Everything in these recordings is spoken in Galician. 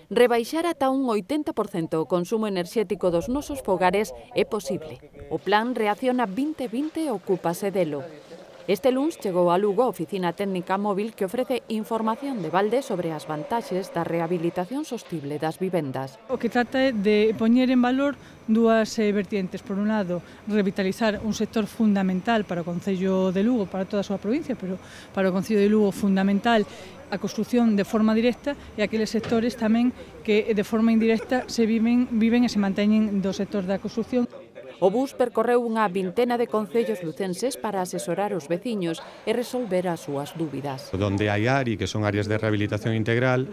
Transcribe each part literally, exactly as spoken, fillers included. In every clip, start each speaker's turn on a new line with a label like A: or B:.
A: Rebaixar ata un oitenta por cento o consumo enerxético dos nosos fogares é posible. O plan Reacciona vinte vinte ocúpase delo. Este luns chegou a Lugo a Oficina Técnica Móvil que ofrece información de balde sobre as vantaxes da rehabilitación sostible das vivendas.
B: O que trata é de poñer en valor dúas eh, vertientes. Por un lado, revitalizar un sector fundamental para o Concello de Lugo, para toda a súa provincia, pero para o Concello de Lugo fundamental a construción de forma directa e aqueles sectores tamén que de forma indirecta se viven, viven e se manteñen do sector da construción.
A: O bus percorreu unha vintena de concellos lucenses para asesorar os veciños e resolver as súas dúbidas.
C: Donde hai A R I, que son áreas de rehabilitación integral,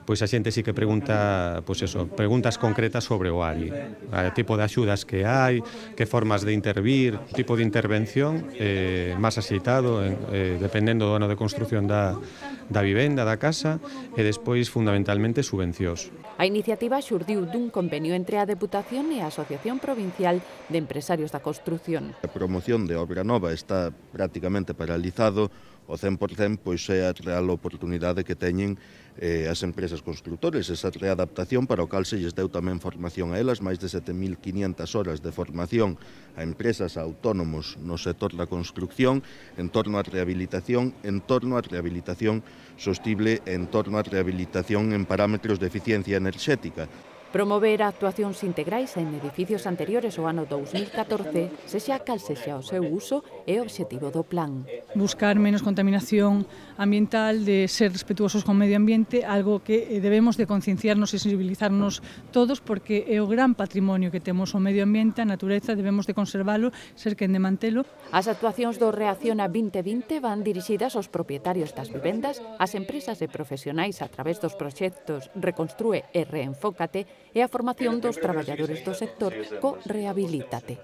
C: pois a xente sí que pregunta, pois eso, preguntas concretas sobre o A R I, o tipo de axudas que hai, que formas de intervir, tipo de intervención eh, máis axeitado, eh, dependendo do ano de construción da, da vivenda, da casa, e despois fundamentalmente subvencións.
A: A iniciativa xurdiu dun convenio entre a Deputación e a Asociación Provincial de Empresarios da Construción.
D: A promoción de obra nova está prácticamente paralizado, o cen por cen pois é a real oportunidade que teñen eh, as empresas constructores, esa readaptación para o cal se lles deu tamén formación a elas, máis de sete mil quinientas horas de formación a empresas a autónomos no sector da construcción en torno á rehabilitación, en torno á rehabilitación sostible, en torno á rehabilitación en parámetros de eficiencia enerxética.
A: Promover actuacións integrais en edificios anteriores ao ano dous mil catorce, sexa cal sexa o seu uso, é o obxectivo do plan.
B: Buscar menos contaminación ambiental, de ser respetuosos con o medio ambiente, algo que debemos de concienciarnos e sensibilizarnos todos, porque é o gran patrimonio que temos o medio ambiente, a natureza, debemos de conservalo, ser quen de mantelo.
A: As actuacións do Reacciona vinte vinte van dirixidas aos propietarios das vivendas, ás empresas e profesionais a través dos proxectos Reconstrúe e Reenfócate e a formación dos traballadores do sector co Rehabilítate.